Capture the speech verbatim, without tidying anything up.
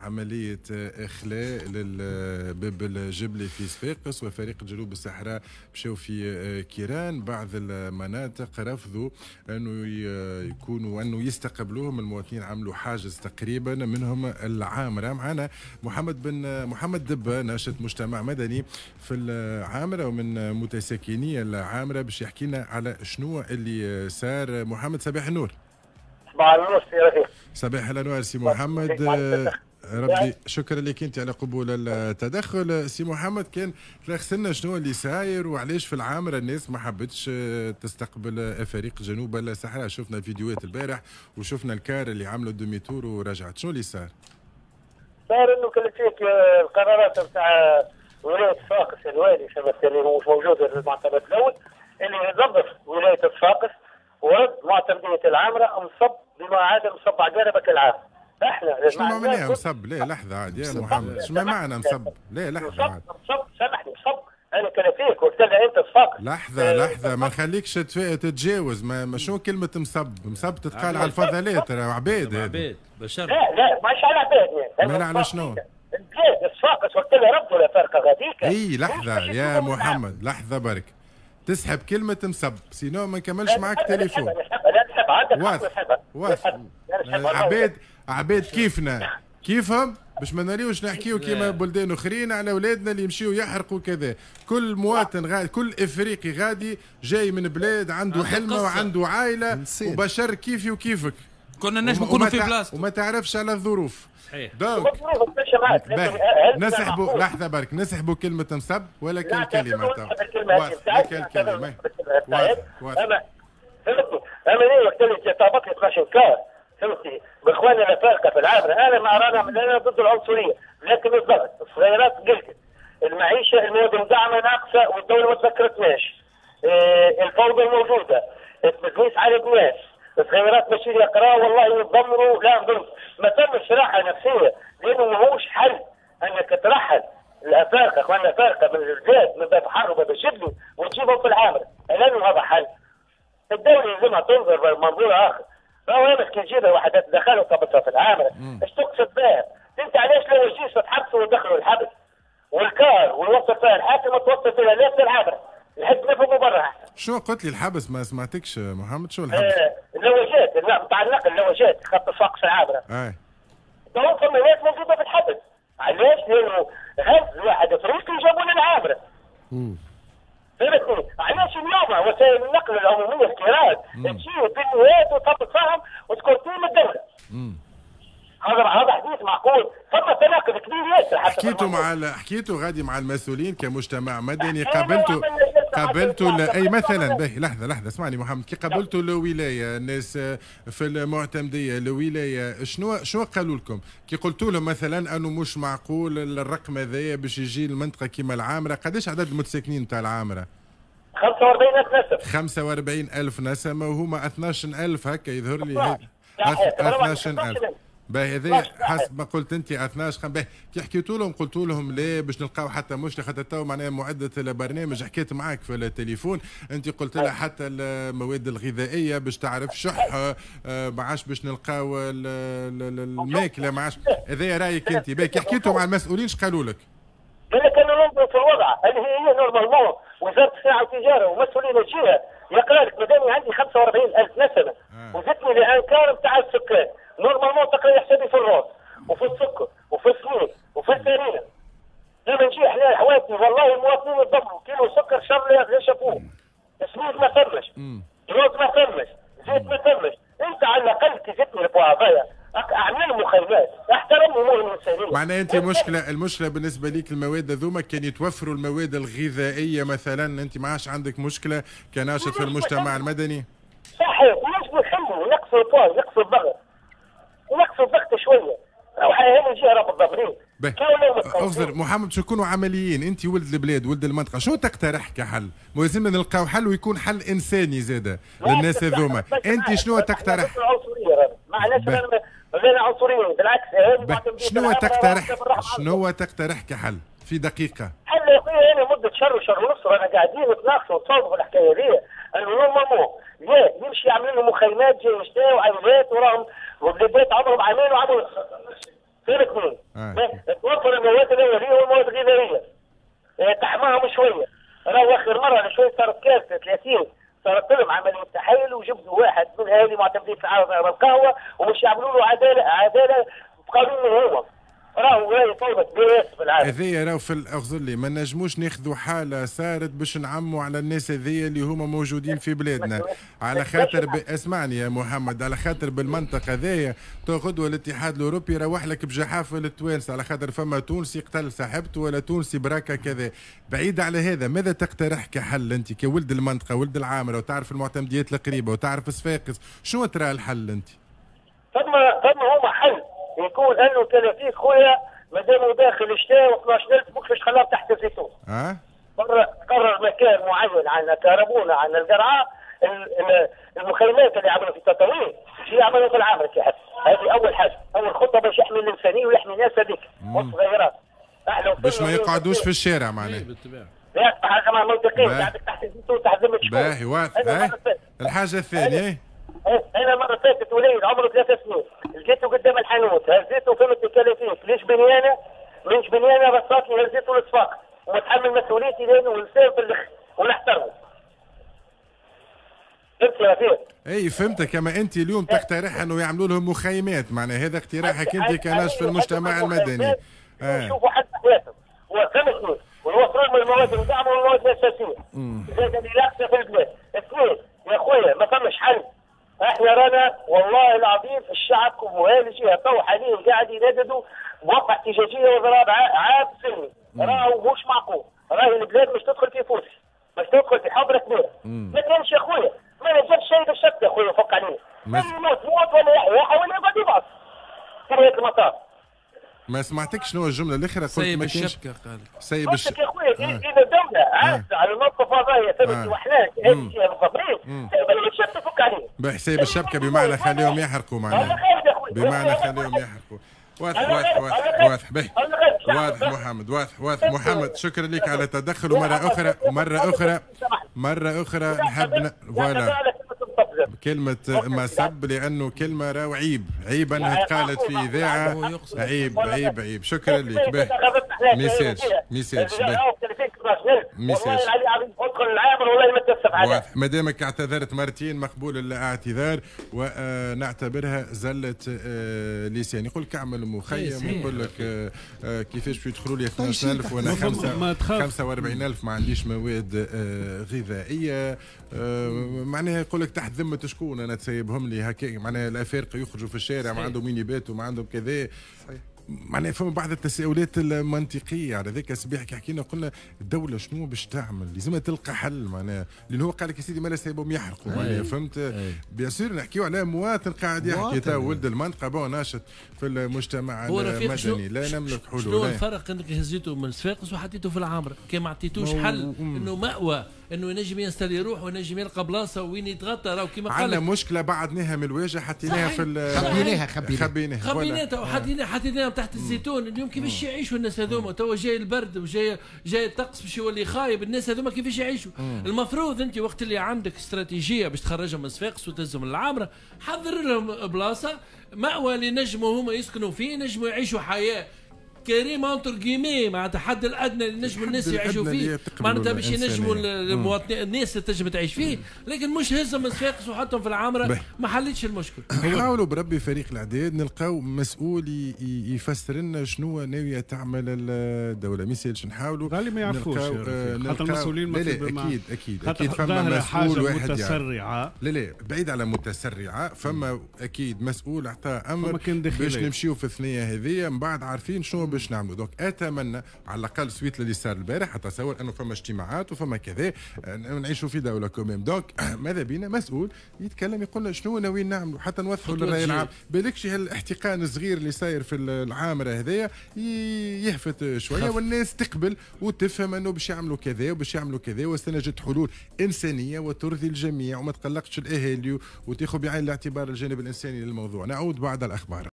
عملية إخلاء للباب الجبلي في صفاقس وفريق جنوب الصحراء مشاو في كيران. بعض المناطق رفضوا أنه يكونوا أنه يستقبلوهم المواطنين، عملوا حاجز تقريبا، منهم العامرة. معنا محمد بن محمد دبة، ناشط مجتمع مدني في العامرة ومن متساكني العامرة، باش يحكي لنا على شنو اللي صار. محمد صباح النور. صباح النور سي رفيق. صباح الانوار سي محمد، ربي شكرا لك انت على قبول التدخل. سي محمد، كان تلخص لنا شنو اللي صاير وعلاش في العامره الناس ما حبتش تستقبل فريق جنوب الصحراء؟ شفنا الفيديوهات البارح وشفنا الكار اللي عملوا demi-tour ورجعت، شنو اللي صار؟ صار انه كلفيك القرارات نتاع ولاية صفاقس، الوالي اللي هو مش موجود المعتمد الاول اللي نظف ولاية صفاقس ورد معتمديه العامره مصب بما عاد مصب عقاربك العام. احنا شنو معناها مصب؟ لا لحظة عاد يا محمد، شنو معنى مصب؟ لا لحظة عاد. مصب سامحني، مصب انا كلفيك وقلت لها انت صفاقس. لحظة لحظة، ما نخليكش تتجاوز. ما شنو كلمة مصب؟ مصب تتقال على الفضلات، راه عباد هذا. عباد بشر. لا لا ماهيش على عباد يعني. مالا على شنو؟ البلاد صفاقس وقت اللي ردوا الافارقة غاديك. اي لحظة يا محمد، لحظة برك، تسحب كلمة مصب sinon ما نكملش معك تليفون. لا نسحب، عندك واضح واضح. عباد عباد كيفنا كيفهم باش ما نريوش نحكيو كيما بلدان اخرين على اولادنا اللي يمشيو يحرقوا كذا. كل مواطن غادي، كل افريقي غادي جاي من بلاد عنده حلمه وعنده عائلة وبشر كيفي وكيفك، كنا نجم نكونوا في بلاصتو وما تعرفش على الظروف. صحيح. donc نسحبوا لحظة برك، نسحبوا كلمة مصب ولا كل كلمة واضح كلمة واضح واضح. اما فهمتني، اما ليه وقت اللي طابق لي اثناش كار فهمتني باخواننا الافارقة في العامره، انا مع رانا انا ضد العنصرية، لكن الضغط الصغيرات قلت المعيشة المواد المدعمه ناقصه والدولة ما تذكرتناش، إيه الفوضى الموجودة، التدليس على الناس، الصغيرات ماشيين يقراوا والله يتدمروا، لا ما تمش راحة نفسية، لانه ماهوش حل انك ترحل الافارقة اخواننا الافارقة من البلاد من باب حر وباب الجبلي وتجيبهم في العامره، لانه هذا حل. الدولة لازمها تنظر بمنظور اخر، راهو انا كي تجيبها وحدات دخلوا وطبطها في العامره، اش تقصد بها؟ انت علاش لو الجيش تحبسوا ودخلوا الحبس؟ والكار والوصل فيها الحاكم توصل فيها لا في العامره، الحد نفهموا برا احسن. شو قلت لي الحبس؟ ما سمعتكش محمد، شو الحبس؟ آه اللواجات، نتاع النقل اللواجات خط صفاقس العامره. اي تو فما ناس موجودة في الحبس، علاش؟ لانه هز واحد افريقي جابوا للعامره. فهمتني؟ علاش اليوم وسائل النقل العمومية الكيران تجي بالنيات وتهبط فيهم وتكورتين من الدولة. هذا هذا حديث معقول؟ فما تناقض كبير ياسر. حكيتوا مع حكيتوا غادي مع المسؤولين كمجتمع مدني، قابلتوا قابلتوا اي مثلا؟ باهي لحظة لحظة اسمعني محمد، كي قابلتوا الولاية الناس في المعتمديه الولاية، شنو شنو قالوا لكم؟ كي قلتوا لهم مثلا انه مش معقول الرقم هذايا باش يجي المنطقة كيما العامره، قداش عدد المتساكنين تاع العامره؟ خمسة وأربعين ألف نسمه. خمسة وأربعين ألف نسمه وهما اثناش ألف هكا يظهر لي. اثناش ألف. باهي هذا حسب ما قلت انت اثناش. باهي كي حكيتوا لهم قلتوا لهم ليه باش نلقاو حتى مشكلة، خاطر تو معناها معده البرنامج حكيت معاك في التليفون، انت قلت لها حتى المواد الغذائية باش تعرف شح، ما عادش باش نلقاو الماكلة، ما عادش. هذا رايك انت. باهي كي حكيتوا مع المسؤولين اش قالوا لك؟ قال لك انا ننظر في الوضع اللي هي normalement وزارة الصناعة والتجارة ومسؤولين الجهة يقرا لك مادام عندي خمسة وأربعين ألف نسمه وزدتني ل un quart نتاع السكان، normalement تقرا حسابي في الروز وفي السكر وفي السميد وفي الفرينة. لما نجي احنا حواتي والله المواطنين يتدمروا، كيلو سكر شر لا شافوه، سميد ما ثمش، روز ما ثمش، زيت ما ثمش، انت على الاقل كي زدتني البوعبايه اعمل مخيمات، احترم امور الانسانية. معناها انت مشكلة المشكلة بالنسبة ليك المواد هذوما كان يتوفروا المواد الغذائية مثلا، انت ما عادش عندك مشكلة كناشط في المجتمع المدني؟ صحيح، ونجموا نحلوا نقصوا البوز، نقصوا الضغط. نقصوا الضغط شوية، راهو هذه الجهة راه بالضبرين. اغزر محمد باش نكونوا عمليين، انت ولد البلاد ولد المنطقة، شنو تقترح كحل؟ لازمنا نلقاو حل ويكون حل انساني زاده للناس هذوما، انت شنو تقترح؟ معناش غير عنصريين بالعكس. شنو تقترح؟ شنو تقترح كحل في دقيقة؟ حل يا خويا انا مده شهر وشهر ونص رانا قاعدين نتناقشوا ونتصاوبوا في الحكاية هذه، انه normalement يا يمشي يعمل لهم مخيمات جاي يشتاو وعائلات وراهم وبلادات عمرهم عامين وعملوا فهمتني؟ توفر المواد الاولية والمواد الغذائية تحماهم شوية. راهو اخر مرة شوية صارت كارثة ثلاثين صارت لهم عملية تحايل وجبدوا واحد من اهالي معتمدين في القهوة ومش يعملوا له عدالة عدالة بقانون هو. راهو راهي طلبت بياس في العالم. هذايا راهو في اغزر لي ما نجموش ناخذوا حاله صارت باش نعموا على الناس هذيا اللي هما موجودين في بلادنا، على خاطر ب... اسمعني يا محمد، على خاطر بالمنطق هذايا غدوه الاتحاد الاوروبي يروح لك بجحافه للتوانسه، على خاطر فما تونسي قتل صاحبته ولا تونسي براكه كذا. بعيد على هذا، ماذا تقترح كحل انت كولد المنطقة ولد العامره وتعرف المعتمديات القريبة وتعرف صفاقس، شنو ترى الحل انت؟ فما فما هما حل يكون انه تلافيك خويا مادام داخل الشتاء و اثناش ألف ماكش خلاهم تحت الزيتون. اه قرر قرر مكان معين عندنا كهربونا عندنا القرعة المخيمات اللي عملوا في التطاوين شي يعملوا في العامره كي هذه اول حاجة، اول خطه باش يحمي الانسانية ويحمي الناس هذيك والصغيرات. باش ما يقعدوش في الشارع معناها. بالطبيعة. لا حاجة مع منطقية عندك تحت الزيتون تحت ذمه شكون. باهي واضح. الحاجة الثانية انا مرة فاتت وليد عمره ثلاث سنين لقيته قدام الحانوت هزيته فهمت الكلافيك ليش بنيانه ليش بنيانه رصاتني هزيته للصفاق ومتحمل مسؤوليتي لانه انسان في الاخر ونحترمه. فهمت يا رفيق؟ اي فهمتك. اما انت اليوم تقترح انه يعملوا لهم مخيمات، معناها هذا اقتراحك انت كناشط في المجتمع المدني. يشوفوا حد حياتهم وفهمتني ويوفروا لهم المواد المدعمه والمواد الاساسية. زاد اللي ناقصه في البلاد. اثنين يا خويا ما فماش حل. احنا رانا والله العظيم الشعب وهالجهه تو حاليا قاعد ينددوا بوقفه احتجاجية وضراب عام سلمي، راهو مش معقول، راهي البلاد مش تدخل في فوسي، مش تدخل في حفره كبيرة. ما كانش يا خويا، ما نجمش شيء بالشك يا خويا فك علينا. يموت موت ولا يحيى ولا يقعد يبعث. في نهاية المطاف. ما سمعتكش شنو الجملة الاخرى قلت؟ سيب الشبكة قال سيب الشبكة يا خويا. اذا الدولة عاجزه على الموقف هذايا ثبت وحنا هذه المخابرين سيب الشبكة فك عليهم. باهي سيب الشبكة بمعنى خليهم يحرقوا معناها. بمعنى خليهم يحرقوا. واضح واضح واضح واضح باهي واضح محمد واضح واضح محمد، شكرا لك على التدخل. ومرة اخرى ومرة اخرى مرة اخرى نحب voilà كلمة ما سب، لأنه كلمة راهو عيب، عيب أنها تقالت في إذاعة، عيب عيب عيب. شكرا لك. باهي ميسالش ميسالش باهي ميسالش. واضح ما دامك اعتذرت مرتين مقبول الاعتذار ونعتبرها زلة لسان. يقول لك اعمل مخيم، يقول لك كيفاش باش يدخلوا لي اثناش ألف وانا خمسة وأربعين ألف ما عنديش مواد غذائية، معناها يقول لك تحت ذمة شكون انا تسيبهم لي هكا، معناها الافارقة يخرجوا في الشارع ما عندهم وين يباتوا ما عندهم كذا. معناها فما بعض التساؤلات المنطقية. على ذاك الصباح كي حكينا قلنا الدولة شنو باش تعمل؟ لازم تلقى حل معناها، لان هو قال لك يا سيدي ما لا سايبهم يحرقوا معناها فهمت؟ bien sûr نحكيو على مواطن قاعد يحكي تو ولد المنطقة bon ناشط في المجتمع المدني لا نملك حلول. شنو الفرق انك هزيته من صفاقس وحطيته في العامره؟ كي ما عطيتوش حل انه مأوى انه ينجم ينستلي يروح وينجم يلقى بلاصة وين يتغطى. راهو كيما قال عندنا مشكلة بعدناها من الواجهة حطيناها في خبيناها خبيناها خبيناها خبيناها وحطيناها حطيناها تحت الزيتون. اليوم كيفاش يعيشوا الناس هذوما؟ توا جاي البرد وجاي جاي الطقس باش يولي خايب، الناس هذوما كيفاش يعيشوا؟ المفروض انت وقت اللي عندك استراتيجية باش تخرجهم من صفاقس وتهزهم للعامره، حضر لهم بلاصة مأوى اللي نجموا هما يسكنوا فيه، نجموا يعيشوا حياة كريم entre guillemets، معناتها الحد الادنى اللي نجموا الناس يعيشوا فيه، معناتها باش ينجموا المواطنين الناس تنجم تعيش فيه، لكن مش هزهم من صفاقس وحطهم في العامره ما حلتش المشكل. حاولوا بربي فريق الاعداد نلقاو مسؤول يفسر لنا شنو ناوية تعمل الدولة، ما يسالش نحاولوا غالي ما يعرفوش خاطر المسؤولين ما لا لا اكيد اكيد اكيد فما مسؤول واحد متسرعه لا لا بعيد على متسرعه، فما اكيد مسؤول اعطى امر باش نمشيو في الثنية هذه، من بعد عارفين شنو باش نعملوا. donc اتمنى على الاقل suite اللي صار البارح اتصور انه فما اجتماعات وفما كذا، نعيشوا في دولة quand même. donc ماذا بينا مسؤول يتكلم يقول لنا شنو ناويين نعملوا حتى نوضحوا للراي العام، بالكش هالاحتقان الصغير اللي صاير في العامره هذايا يهفت شوية والناس تقبل وتفهم انه باش يعملوا كذا وباش يعملوا كذا، وسنجد حلول انسانيه وترضي الجميع وما تقلقش الاهالي وتاخذ بعين الاعتبار الجانب الانساني للموضوع. نعود بعد الاخبار.